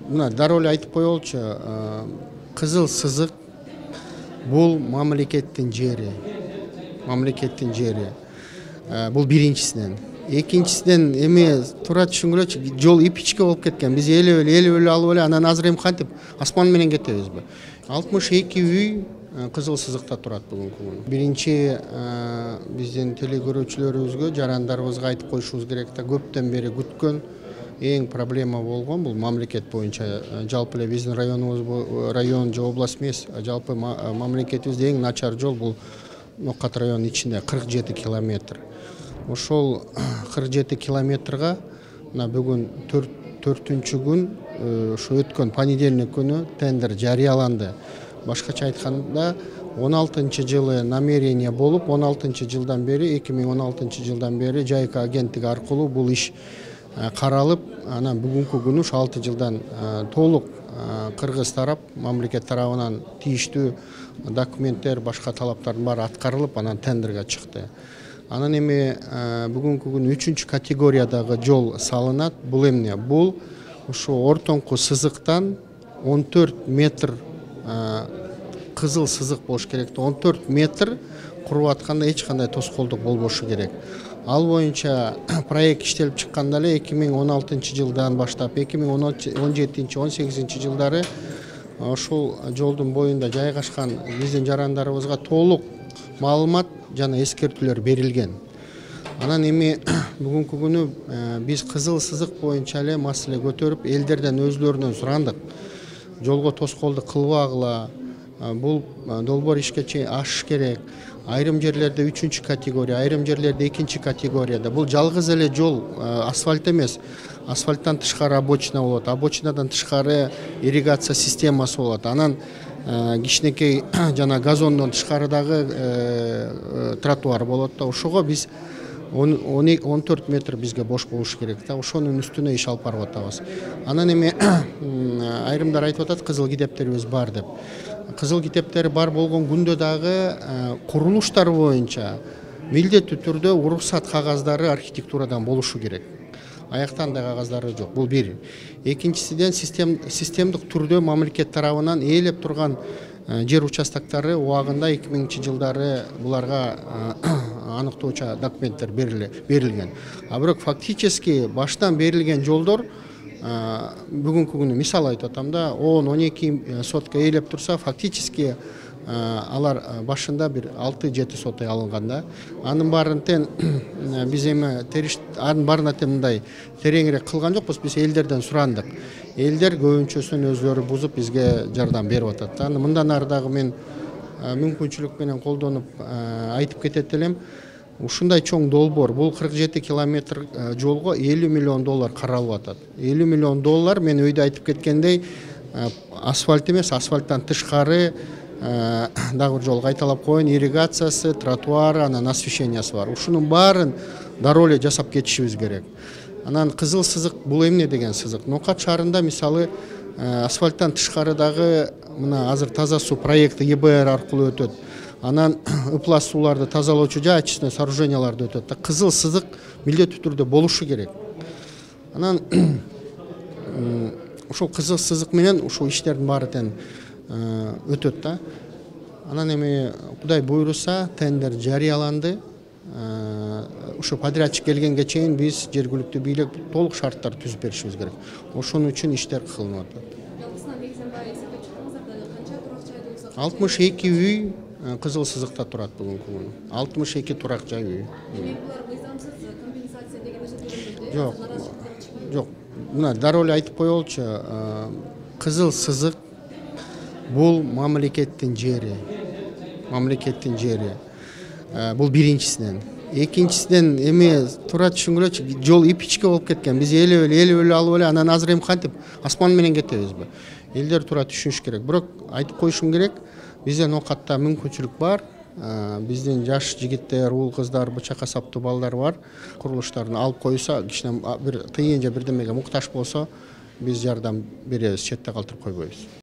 Мына дароо эле айтып коелучу, кызыл сызык бул мамлекеттин жери. Мамлекеттин жери. Бул биринчисинен. Экинчисинен эми туура түшүнгүлөчү, жол ипичке болуп кеткен. Биз элеп эле алып эле анан азыр эми кантип асман менен кетебизби? 62 үй кызыл сызыкта турат бүгүнкү күнү. Биринчи биздин телекөрүүчүлөрүбүзгө, жарандарыбызга айтып коюшубуз керек да, көптөн бери күткөн эң проблема болгон бул мамлекет боюнча, жалпы эле биздин район же область эмес, жалпы мамлекетибизде эң начар жол бул Нокат районунун ичинде 47 километр. Ошол 47 километрга мына бүгүн 4-күн ушу өткөн понедельник күнү тендер жарыяланды. Башкача айтканда 16-жылы намерение болуп, 16-жылдан бери, 2016 жылдан бери Жайка агенттиги аркылуу бул иш каралып, анан бүгүнкү күнү 6 жылдан толук кыргыз тарап, мамлекет тарабынан тийиштүү документтер, башка талаптардын баары аткарылып, анан тендерге чыкты. Анан эми бүгүнкү күнү 3-категориядагы жол салынат. Бул эмне? Бул ушу ортоңку сызыктан 14 метр кызыл сызык болуш керек. 14 метр куруп атканда эч кандай тоскоолдук болбошу керек. Ал боюнча проект иштелип чыкканда эле 2016 жылдан баштап 2017-18 жылдары ошол жолдун боюнда жайгашкан биздин жарандарыбызга толук маалымат жана эскертүүлөр берилген. Анан эми бүгүнкү күнү биз кызыл сызык боюнча эле маселе көтөрүп, элдерден өзлөрүнөн сурандык. Жолго тоскоолдук кылбагыла, бул долбоор ишке ашыш керек. Айрым жерлерде 3-категория, айрым жерлерде 2-категорияда. Бул жалгыз эле жол, асфальт эмес. Асфальттан тышкары обочина болот, обочинадан тышкары ирригация системасы болот. Анан кичинекей жана газондон тышкарыдагы тротуар болот да. Ошого биз 14 метр бизге бош болуш керек да. Ошонун үстүнө иш алып барып атабыз. Анан эми айрымдар айтып атат, кызыл китептерибиз бар деп. Кызыл китептери бар болгон күндө дагы курулуштар боюнча милдеттүү түрдө уруксат кагаздары архитектурадан болушу керек. Аяктан да кагаздары жок. Бул бир. Экинчисиден системдик түрдө мамлекет тарабынан ээлеп турган жер участоктары убагында 2000-жылдары буларга аныктоочу документтер берилген. А бирок фактически баштан берилген жолдор бүгүнкү күнү мисал айтып атам да, 10-12 сотка ээлеп турса, фактически алар башында бир 6-7 сотка алынган да. Анын баарын биз эми анын баарына мындай тереңирээк кылган жокпуз, биз элдерден сурандык. Элдер көбүнчөсүн өзлөрү бузуп бизге жардам берип атат да. Мындан ары дагы мен мүмкүнчүлүк менен колдонуп айтып кетет элем. Ушундай чоң долбоор, бул 47 километр жолго $50 миллион каралып атат. $50 миллион мен өйдө айтып кеткендей, асфальт эмес, асфальттан тышкары дагы бир жол кайталап коеюн, ирригациясы, тротуары, анан освещениясы бар. Ушунун баарын дароо эле жасап кетишибиз керек. Анан кызыл сызык бул эмне деген сызык? Нокат шаарында мисалы асфальттан тышкарыдагы мына азыр таза суу проекти ЕБР аркылуу өтөт. Анан ыплас сууларды тазалоочу жай очистный сооруженияларды өтөт. Кызыл сызык милдеттүү түрдө болушу керек. Анан ушул кызыл сызык менен ушул иштердин баары өтөт да. Анан эми Кудай буйруса тендер жарыяланды. Ушу подрядчик келгенге чейин биз жергиликтүү бийлик толук шарттар түзүп беришибиз керек. Ошон үчүн иштер кылынып атат. 62 үй кызыл сызыкта турат бүгүнкү күнү. 62 турак жай үй. Жок. Жок. Мына дароо эле айтып коелучу, кызыл сызык бул мамлекеттин жери. Мамлекеттин жери. Бул биринчисинен. Экинчисинен эми туура түшүнгүлөчү, жол ипичке болуп кеткен. Биз элеп эле алып эле анан азыр эми кантип асман менен кетебизби? Элдер туура түшүнүш керек. Бирок айтып коюшум керек, бизде Нокатта мүмкүнчүлүк бар. Биздин жаш жигиттер, уул кыздар, бычак касаптуу балдар бар. Курулуштарын алып койсо, кичине бир тыйын же бирдемеге муктаж болсо, биз жардам беребиз, четте калтырып койбойбуз.